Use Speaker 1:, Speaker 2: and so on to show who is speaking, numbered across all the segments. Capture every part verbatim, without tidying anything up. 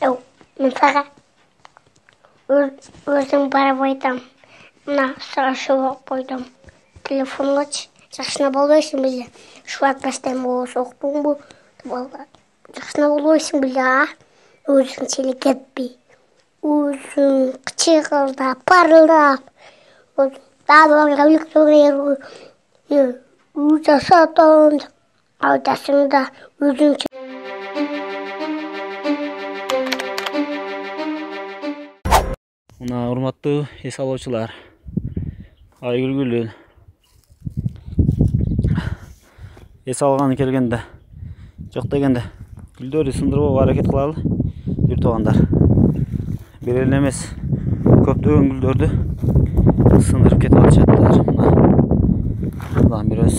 Speaker 1: Мен сага өзүң барып айтам. Мына сурашып койдум. Телефонгочу жакшына болбойсуң беле? Шулат бастайм болбосо уктуңбу? Балдар. Жакшына болбойсуң беле, а? Өзүң челе кетпей. Өзүң кычкырдап, парылдап. Дагы электр Ужа сатан. Айтасың да өзүң.
Speaker 2: Мына урматтуу эс алуучулар, ай күлгүлүү эс алганы келгенде, жок дегенде гүлдөрдү сындырбоого аракет кылалы. Бир туугандар, бир эле эмес, көптөгөн гүлдөрдү сындырып кетип атышаттыр. Мына дагы бирөөс,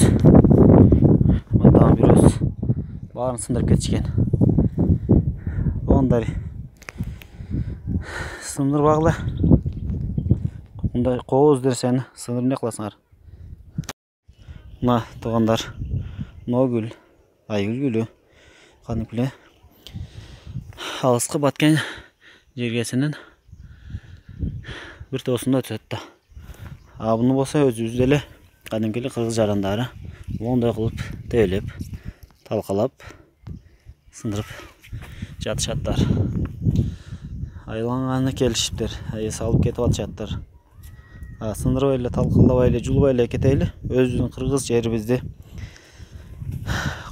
Speaker 2: мына дагы бирөөс баарын сындырып кетишкен. Туугандар, сындырбагыла. Мындай кооз нерсени сындырып эмне кыласыңар? Мына туугандар, Ногүл, ай күлгүлүү, кадимкиле алыскы Баткен жергесинин бир тоосунда өтөт да. А буну болсо өзүбүз деле кадимкиле кыргыз жарандары моундай кылып тебелеп, талкалап, сындырып жатышаттар. Айланганы келишиптир, эс алып кетип атышаттыр. Сындырбай эле, талкалабай эле, жулбай эле кетели. Өзүбүздүн кыргыз жерибизди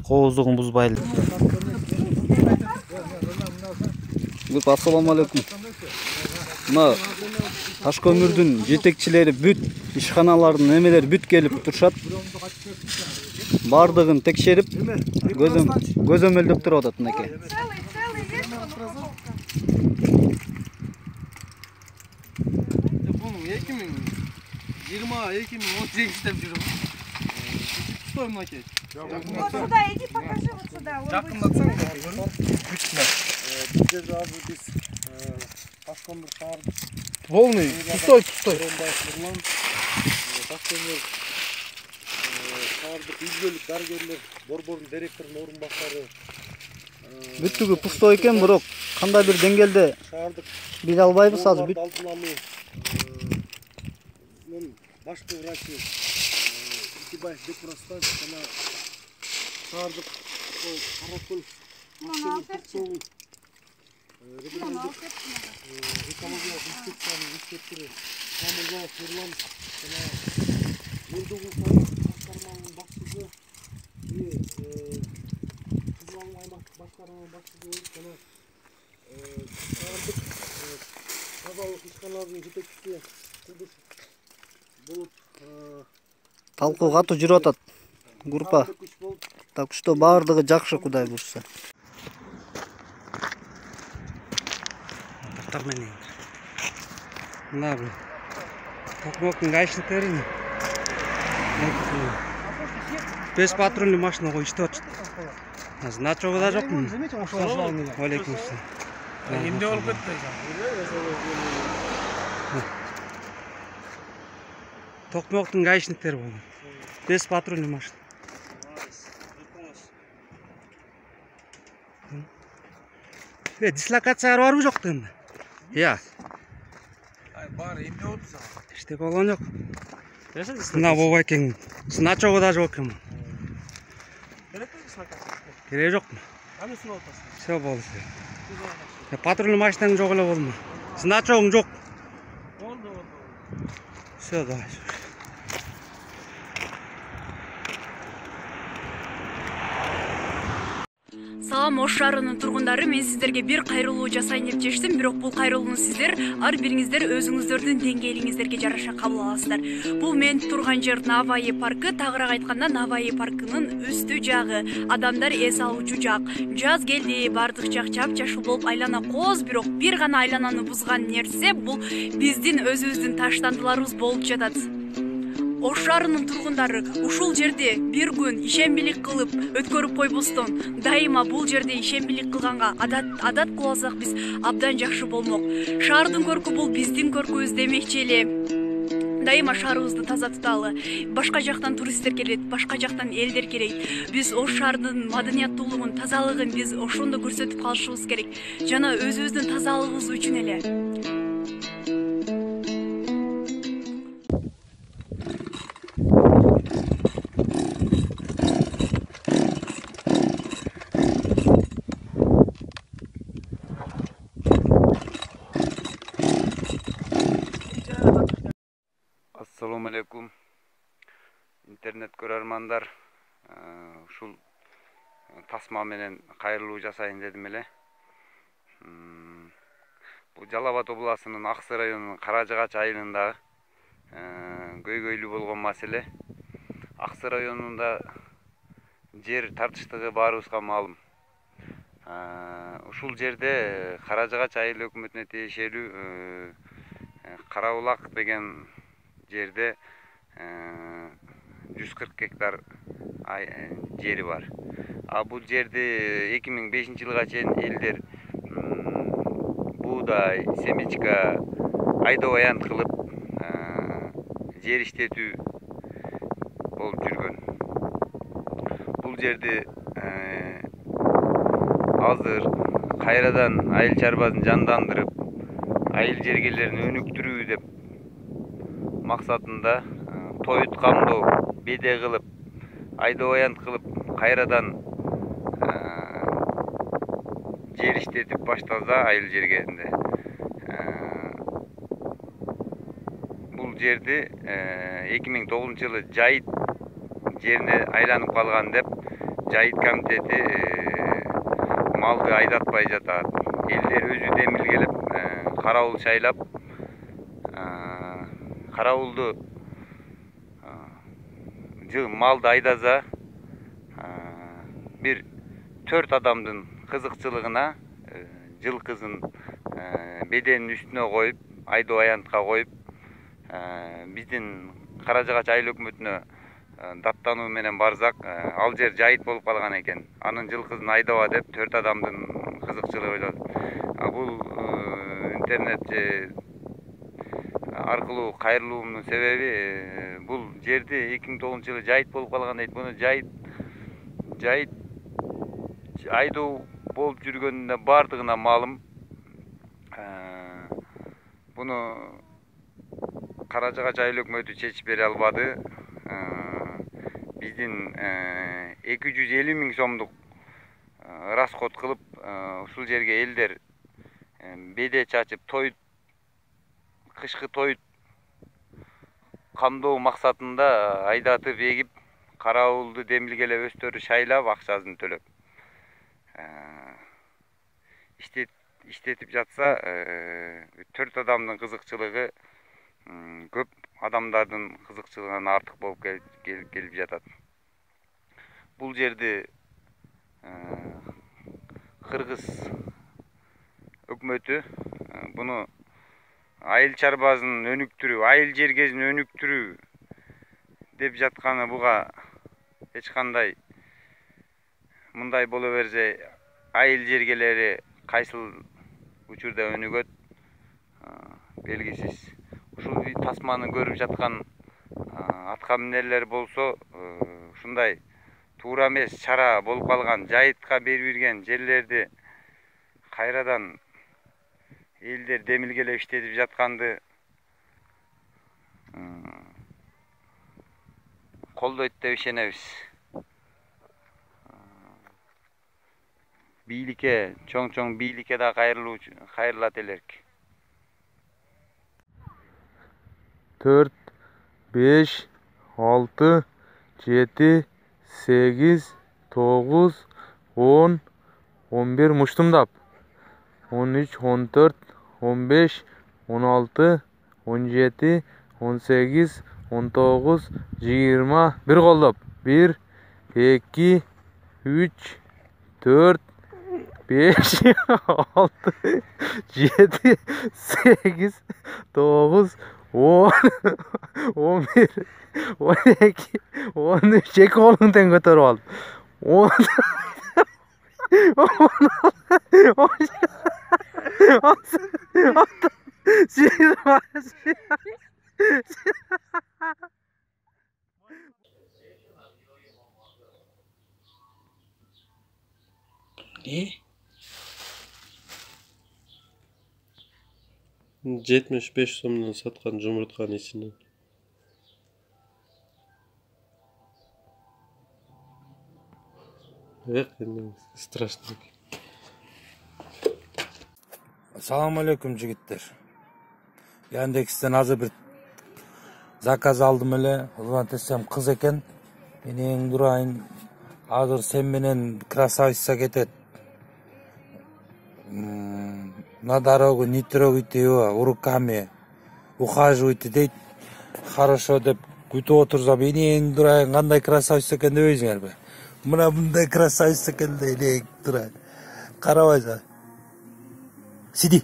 Speaker 2: кооздугун бузбайлы.
Speaker 3: Ассаламу алейкум. Мына таш көмүрдүн жетекчилери бүт, ишканалардын эмелери бүт келип турушат. Бардыгын текшерип, көзөмөлдөп туруп атат мынакей.
Speaker 4: эки миң жыйырма эки миң он сегиз деп жүрөм. Пустой мынакей.
Speaker 5: Вот сюда иди, покажи вот сюда.
Speaker 4: Жакындатсаң, бүткүнө.
Speaker 6: Бизде азыр биз таш көмүр шаардык.
Speaker 4: Полный, пустой, пустой.
Speaker 6: Таш көмүр шаардык изгөлүк дарыгерлер, борбордун директорунун орун баштары.
Speaker 3: Бүттүгү пустой экен, бирок кандай бир деңгээлде
Speaker 6: Шаардык
Speaker 3: биле албайбыз азыр. Бүт
Speaker 6: мен башкы врачы Икибаев Бекмурастан жана шаардык Каракөл экология инспекциясынын инспектору Самырбаев Нурлан жана Элдугул башкарманын башчысы и Кызыл Алым аймактык башкарманын башчысы жана шаардык тазалык ишканаларынын жетекчиси Кудус болуп
Speaker 3: талкуу катуу жүрүп атат. Группа так что баардыгы жакшы, Кудай буйрса.
Speaker 4: Так менен. Мына бул токмоктун гаишниктери беш патрульный машина коюп иштеп атышат. Значогу да жокмун. Алейкум ассалам. Эмне болуп кетти? Токмоктун гаишниктери болду. Бес патрульный машина. Э, дислокацияга барбы жок дегенде? Я. Ай, бар, эмне болду сага? Эчтеке болгон жок. Мына болбой экен. Значогу да жок экен. Керекпи дислокация? Кереги жокму? Кандай сынап атасың? Всё болду. Патрульный машинаң жок эле болдуму? Значогуң жок. Болду, болду. Всё, давай.
Speaker 7: Салам, Ош шаарынын тургундары, мен сиздерге бир кайрылуу жасайын деп чечтим, бирок бул кайрылууну сиздер ар бириңиздер өзүңүздөрдүн деңгээлиңиздерге жараша кабыл аласыздар. Бул мен турган жер Наваи паркы, тагыраак айтканда Наваи паркынын үстү жагы, адамдар эс алуучу жак. Жаз келди, бардык жак жап-жашыл болуп айлана кооз, бирок бир гана айлананы бузган нерсе бул биздин өзүбүздүн таштандыларыбыз болуп жатат. Ош шаарынын тургундары ушул жерде бир күн ишембилик кылып өткөрүп койбостон, дайыма бул жерде ишембилик кылганга адат адат кылып алсак биз абдан жакшы болмок. Шаардын көркү бул биздин көркүбүз демекчи эле. дайыма шаарыбызды таза туталы. Башка жактан туристтер келет, башка жактан элдер келет. Биз ош шаардын маданияттуулугун, тазалыгын биз ошондо көрсөтүп калышыбыз керек. Жана өзүбүздүн тазалыгыбыз үчүн эле.
Speaker 8: Assalamu alaikum. Интернет көрөрмандар, ушул тасма менен кайрылуу жасайын дедим эле. Бул Жалал Абад областынын Аксы районунун Каражыгач айылындагы көйгөйлүү болгон маселе. Аксы районунда жер тартыштыгы баарыбызга маалым. Ушул жерде Каражыгач айыл өкмөтүнө тиешелүү Карабулак деген жерде жүз кырк гектар жери бар. А бул жерди эки миң бешинчи жылга чейин элдер буудай, семечка, айдоо аянт кылып жер иштетүү болуп жүргөн. Бул жерди азыр кайрадан айыл чарбасын жандандырып, айыл жергелерин өнүктүрүү деп максатында тоют камдоо, беде кылып, айдоо аянт кылып, кайрадан жер иштетип башталса айыл жергеринде. Бул жерди эки миң тогузунчу жылы жайыт жерине айланып калган деп жайыт комитети малды айдатпай жатат. Элдер өзү демилгелеп, карабул шайлап, карабулду малды айдаса бир төрт адамдын кызыкчылыгына жылкысын беденин үстүнө коюп, айдоо аянтка коюп, биздин Каражыгач айыл өкмөтүнө даттануу менен барсак, ал жер жайыт болуп калган экен. Анын жылкысын айдаба деп төрт адамдын кызыкчылыгы ойлоду. Бул интернет аркылуу кайрылуумдун себеби бул жерди эки миң тогузунчу жылы жайыт болуп калган дейт. Муну жайыт жайыт айдоо болуп жүргөнүнө бардыгына маалым. Буну Каражыгач айыл өкмөтү чечип бере албады. Биздин эки жүз элүү миң сомдук расход кылып, ушул жерге элдер беде чачып, тоют, кышкы тоют камдоо максатында айдатып эгип, карабулду демилгелеп, өстөрү шайлап, акчасын төлөп иштетип жатса, төрт адамдын кызыкчылыгы көп адамдардын кызыкчылыгынан артык болуп келип жатат. Бул жерди кыргыз өкмөтү буну айыл чарбасын өнүктүрүү, айыл жергесин өнүктүрүү деп жатканы буга эч кандай мындай боло берсе, айыл жергелери кайсыл учурда өнүгөт белгисиз. Ушул тасманы көрүп жаткан атка минерлер болсо, ушундай туура эмес чара болуп калган жайытка берип ирген жерлерди кайрадан элдер демилгелеп иштетип жатканды колдойт деп ишенебиз. Бийликке, чоң-чоң бийликке да кайрылуу кайрылат элек.
Speaker 6: төрт, беш, алты, жети, сегиз, тогуз, он, он бир муштумдап. он үч, он төрт, он беш, он алты, он жети, он сегиз, он тогуз, жыйырма. Бир колдоп. бир, эки, үч, төрт, беш, алты, жети, сегиз, тогуз, он, он бир, он эки, он үч. Эки колуң тең көтөрүп алып. он, on, on, on, Ne? жетимиш беш сомдон саткан жумуртканын ичинен. Эх, страшно.
Speaker 9: Assalamu alaikum жигиттер. Яндекстен азыр бир заказ алдым эле. Улантсам кыз экен. Менин дурайын азыр сен менен красавица кетет. На дорогу не трогайте его руками. Ухаживайте дейт. Хорошо деп күтүп отурса менин дурайын кандай красавица экен дебейсиңерби? Мына мындай красавица экен элек турат. Карабайсың. Сиди.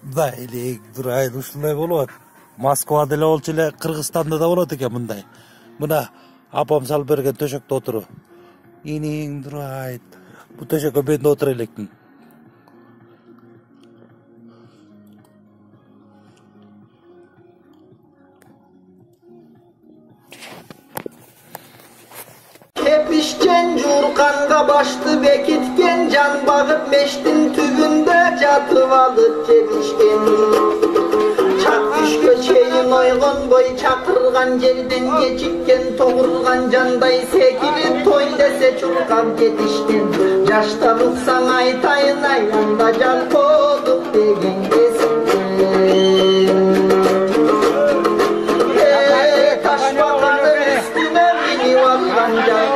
Speaker 9: Да, элек дурайын ушундай болот. Москвада эле болчу эле, Кыргызстанда да болот экен мындай. Мына апам салып берген төшөктө отуру. Энең дурайт. Бу төшөккө мен да отура электим.
Speaker 10: Tepişken jurkanga başlı bekitken can bağıp meştin tübünde jatıp alıp tepişken. Çak düşkö çeyin oygun boy çakırgan yerden geçikken toğurgan canday sekilip toy dese çurkap getişken. Yaşta ruksan aytayın ayanda can kolduk degen kesin. Eee taş bakanın üstüne bini vakkan can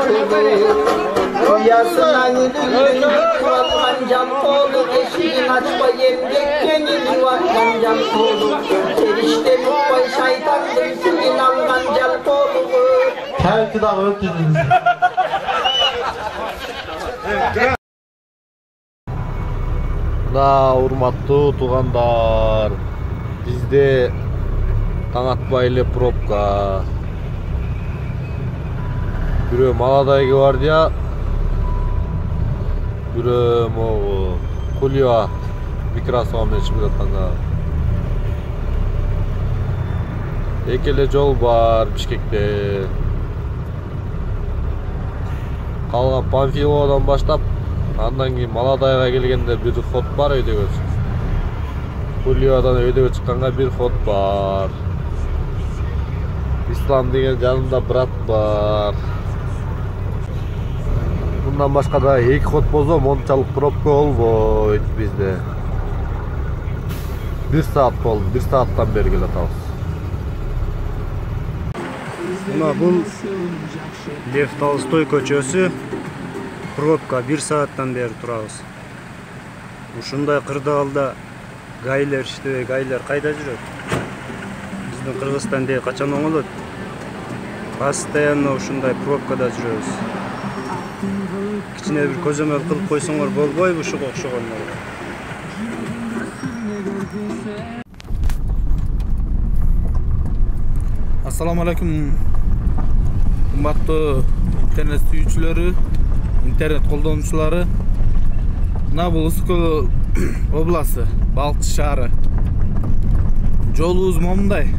Speaker 10: Yasına gülün vatkan cam kolu eşiğin açma yemgekken gibi vatkan cam kolu Erişte mutfay şeytandır suyun algan cam kolu Terki dağı ötünüz
Speaker 11: Да, урматтуу туугандар, бизде таң атпай эле пробка. Бирөө Молодой гвардия, бирөө могу Кулио микросоо менен чыгып жатканга. Эки эле жол бар Бишкекте. Калган Панфиловдон баштап, андан кийин Молодойго келгенде бир ход бар өйдөгө. Кулиодон өйдөгө чыкканга бир ход бар. Ислам деген жанында брат бар. Мындан башка да эки ход болсо мончалык пробка болбойт бизде. Бир саат болду, бир сааттан бери келе атабыз.
Speaker 2: Мына бул Лев Толстой көчөсү. Пробка бир сааттан бери турабыз. Ушундай кырдаалда гайлер иштебей, гайлер кайда жүрөт? Биздин Кыргызстанда качан оңолот? Постоянно ушундай пробкада жүрөбүз. Кичине бир көзөмөл кылып койсоңор болбойбу ушуга окшогондор.
Speaker 12: Assalamu alaikum. Кымбаттуу интернет сүйүүчүлөрү, интернет колдонуучулары. Мына бул Ускул областы, Балкчы шаары. Жолубуз момундай.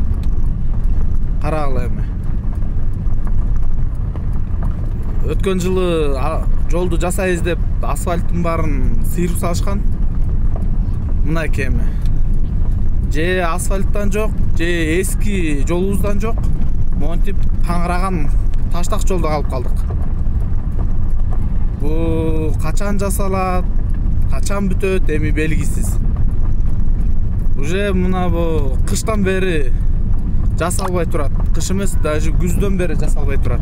Speaker 12: Карагыла эми. Өткөн жылы жолду жасайбыз деп асфальттын баарын сыйрып салышкан. Мынакей эми. Же асфальттан жок, же эски жолубуздан жок. Монтип таңыраган таштак жолдо калып калдык. Бу качан жасалат, качан бүтөт эми белгисиз. Уже мына бу кыштан бери жасалбай турат. Кыш эмес, даже күздөн бери жасалбай турат.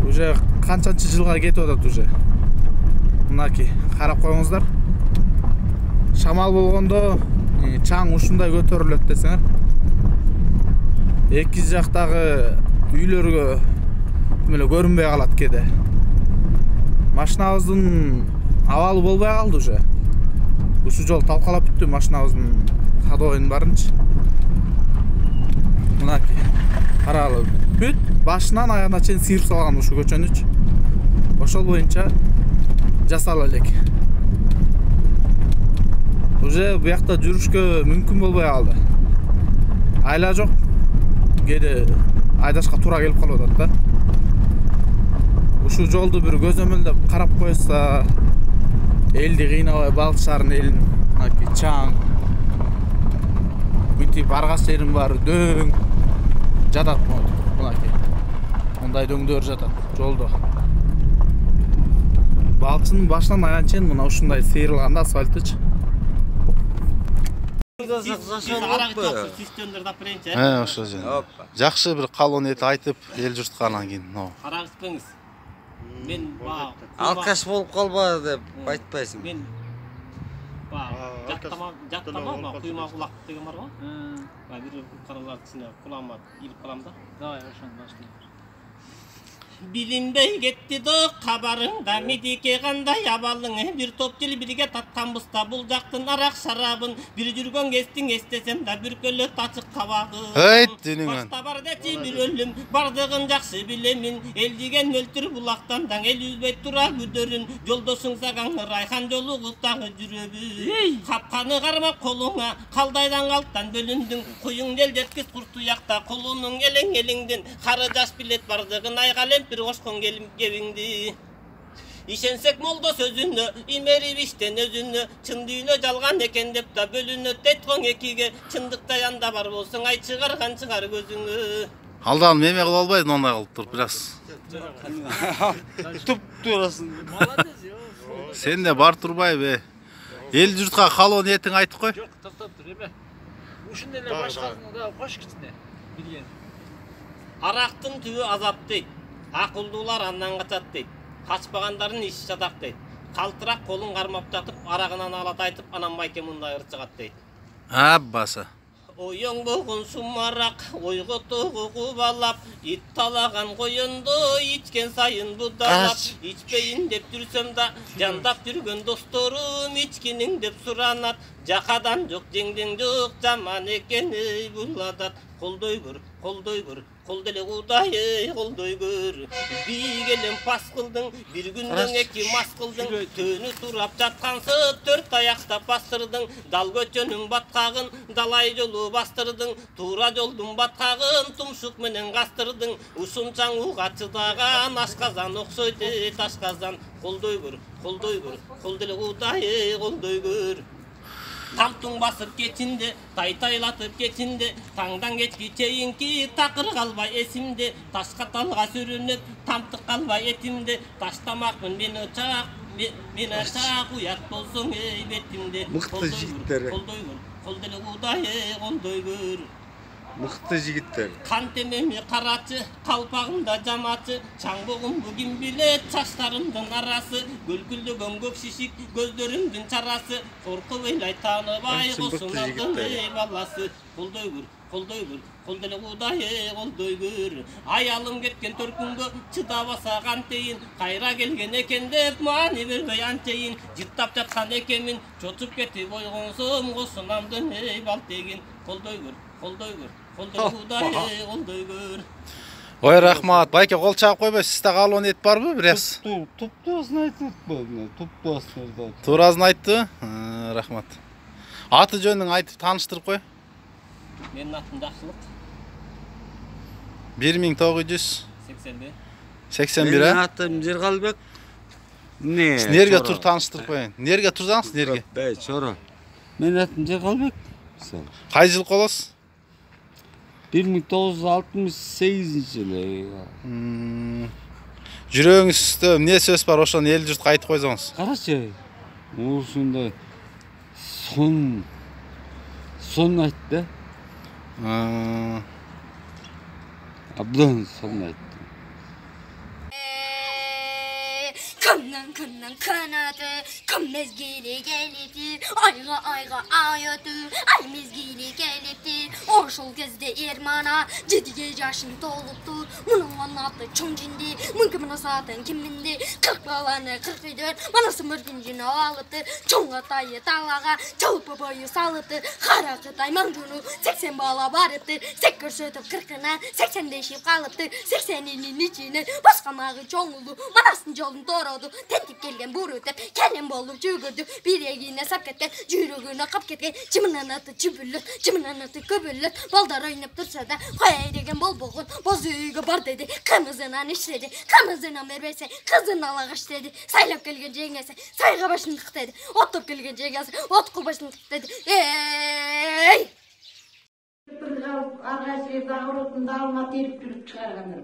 Speaker 12: Уже канчанчы жылга кетип атат уже. Мынакей, карап коюңуздар. Шамал болгондо чаң ушундай көтөрүлөт десеңер. Эки жактагы үйлөргө эле көрүнбөй калат кеде. Машинабыздын абалы болбой калды уже. Ушу жол талкалап бүттү машинабыздын ходовойдун барынчы. Мынакей, карагыла. Бүт башынан аягына чейин сыйрып салган ушу көчөнүч. Ошол боюнча жасала элек. Уже буякта жүрүшкө мүмкүн болбой калды. Айла жок. Кээде айдашка туура келип калып атат да. ушул жолду бир көзөмөлдөп карап койса, элди кыйнабай Балык шаарынын элин мынакей чаң. Мынтип баргас жерин баары дөң жатат мынакей. Мындай дөңдөр жатат жолдо. Балыкчынын башынан аян чейин мына ушундай сейрилган да асфальтычы. Э, ошо жөн. Жакшы бир калон эт айтып, эл журтка анан кийин.
Speaker 13: Караңызпыңыз. Мен ба
Speaker 14: алкаш болуп калба деп айтпайсың.
Speaker 13: Мен ба жаттама жаттама куйма кулак деген бар го. Ба бир каралар ичине кулама илип калам да. Давай ошону баштайбыз. Билинбей кетти до кабарыңда медике кандай абалың бир топ жыл бирге татканбызда бул жактын арак шарабын бир жүргөн кездин эстесем да бүркөлөт ачык кабагы.
Speaker 12: Эй, динеңен.
Speaker 13: Башта бар дечи бир өлүм бардыгын жакшы билемин эл деген өлтүр булактан даң эл үзбөй тура күдөрүн жолдошуң саган райхан жолугуп дагы жүрөбү. Капканы кармап колуңа калдайдан калттан бөлүндүң куюң ел жеткиз куртуякта колунуң элең элеңден кары жаш билет бардыгын айгалем bir koşkun gelip gevindi. İşensek moldo sözünü, imeri bişten özünü, çın düğünü jalgan eken dep da bölünü tetkoң ekige, çındıkta yanda bar bolsun ay çıgargan çıgar gözünü.
Speaker 12: Алдан меме кылып албайсың, ондай кылып туруп бираз.
Speaker 3: Туп турасың.
Speaker 12: Сен де бар турбайбы? Эл журтка калоон этиң айтып кой.
Speaker 15: Жок, токтоп тур эме. Ушундай эле башкасын да кош кичине билген.
Speaker 13: Арактын түбү азап дейт. Акылдуулар андан качат дейт. Качпагандардын иш жатак дейт. Калтырак колун кармап жатып, арагынан алат айтып, анан майке мындай ырчыгат дейт.
Speaker 12: Аббасы.
Speaker 13: Оюң болгон сумарак, ойготугу кубалап, ит талаган коюнду ичкен сайын будалап, ичпейин деп жүрсөм да, жандап жүргөн досторум ичкиниң деп суранат, жакадан жок жеңдең жок, жаман экен ей бул адат, колдой көр, колдой көр, кол деле кудайы колдой көр. Бийгелем пас кылдың, бир күндөн эки мас кылдың, төнү турап жаткансып төрт аякта бастырдың, дал көчөнүн баткагын далай жолу бастырдың, туура жолдун баткагын тумшук менен кастырдың, ушунчаң уга чыдаган ашказан окшойт ташказан, колдой көр, колдой көр, кол деле кудайы колдой көр. Тамтың басып кетинде, тай-тайлатып кетинде, таңдан кечки чейинки такыр калбай эсимде, ташка талга сүрүнүп, тамтык калбай этимде, таштамакмын мен очак, мен очак уят болсоң эй бетимде.
Speaker 14: Мыкты жигиттер.
Speaker 13: Колдой көр, кол деле кудайы колдой көр.
Speaker 14: Мыкты жигиттер.
Speaker 13: Кан темеми карачы, калпагымда жамачы, чаңбогум бүгүн билет, чачтарымдын арасы, гүлгүлдөгөн көк шишик, көздөрүмдүн чарасы, коркуп эйлай тааныбай косунардын эй баласы. Колдой көр, колдой көр, кол деле кудайы колдой көр. Аялым кеткен төркүнгө чыдабаса кантейин, кайра келген экен деп маани бербей анчейин, жыттап жаткан экенмин, чочуп кетип ойгонсом косунамдын эй балтегин. Колдой көр, колдой көр, кол деле кудайы колдой көр.
Speaker 12: Ой, рахмат. Байке кол чагып койбойсуз. Сизде калоон эт барбы, бираз?
Speaker 3: Туптуусын айтып атпадым, туптуусын айтып.
Speaker 12: Туурасын айтты. Рахмат. Аты жөнүң айтып тааныштырып кой.
Speaker 13: Менин атым Жакшылык.
Speaker 12: бир миң тогуз жүз
Speaker 13: сексен бир.
Speaker 12: сексен бир, а?
Speaker 14: Менин атым Жергалбек.
Speaker 12: Не? Нерге тур тааныштырып коеюн. Нерге турсаңыз, нерге?
Speaker 14: Бей, чоро. Менин атым Жергалбек.
Speaker 12: Кай жыл колосуз?
Speaker 14: бир миң тогуз жүз алтымыш сегизинчи жылы.
Speaker 12: Жүрөгүңүздө эмне сөз бар, ошону эл журтка айтып койсоңуз.
Speaker 14: Карачы. Ушундай сон сон айтты. Абдан сон айтты.
Speaker 16: Kımdan kımdan kanadı, kım mezgili geliptir, ayga ayga ay ötür, ay mezgili geliptir. Oşul gözde ermana, jediye yaşın doluptur, munun atı çoң jindi, mınkımına satın kimindi, kırk balanı kırk ödür, manası mırgıncını alıptır, çoң atayı talağa, çalıpı boyu salıptır, kara kıtay mangunu, seksen bala barıptır, sekkör sötüp kırkına, seksen deşip kalıptır, sekseninin içine, başkamağı çoğulu, manasın jolun doğru. тентип келген буру деп келин болуп жүгүрдү бирегине сап кеткен жүрөгүнө кап кеткен чымынан аты чүбүлөт чымынан аты көбөлөт балдар ойноп турса да кой деген болбогон боз үйгө бар деди кымызынан иштеди кымызынан бербесе кызын ала каш деди сайлап келген жеңеси сайга башын тык деди оттоп келген жеңеси отко башын тык деди эй
Speaker 17: ага жерде агыротунда алма терип жүрүп чыгаргандар.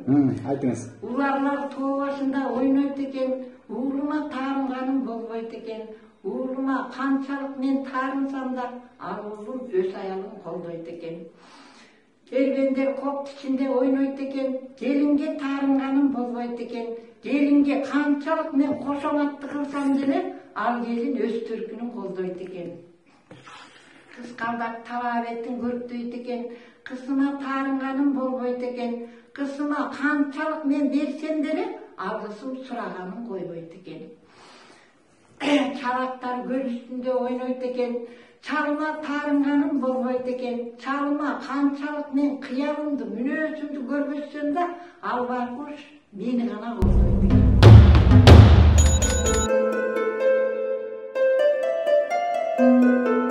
Speaker 18: Айтыңыз.
Speaker 17: Уларлар тоо башында ойнойт экен, уулума таарынганым болбойт экен. Уулума канчалык мен таарынсам да, ал уулум өз аялын колдойт экен. Келгендер коп ичинде ойнойт экен, келинге таарынганым болбойт экен. Келинге канчалык мен кошоматты кылсам деле, ал келин өз төркүнүн колдойт экен. Кыскалдак таба бетин көрктөйт экен, кызыма таарынганым болбойт экен, кызыма канчалык мен берсем деле алгысым сураганын койбойт экен. Чалактар көл үстүндө ойнойт экен, чалыма таарынганым болбойт экен, чалыма канчалык мен кыялымды, мүнөзүмдү көргөзсөм да, ал байкуш мени гана колдойт экен.
Speaker 10: Thank you.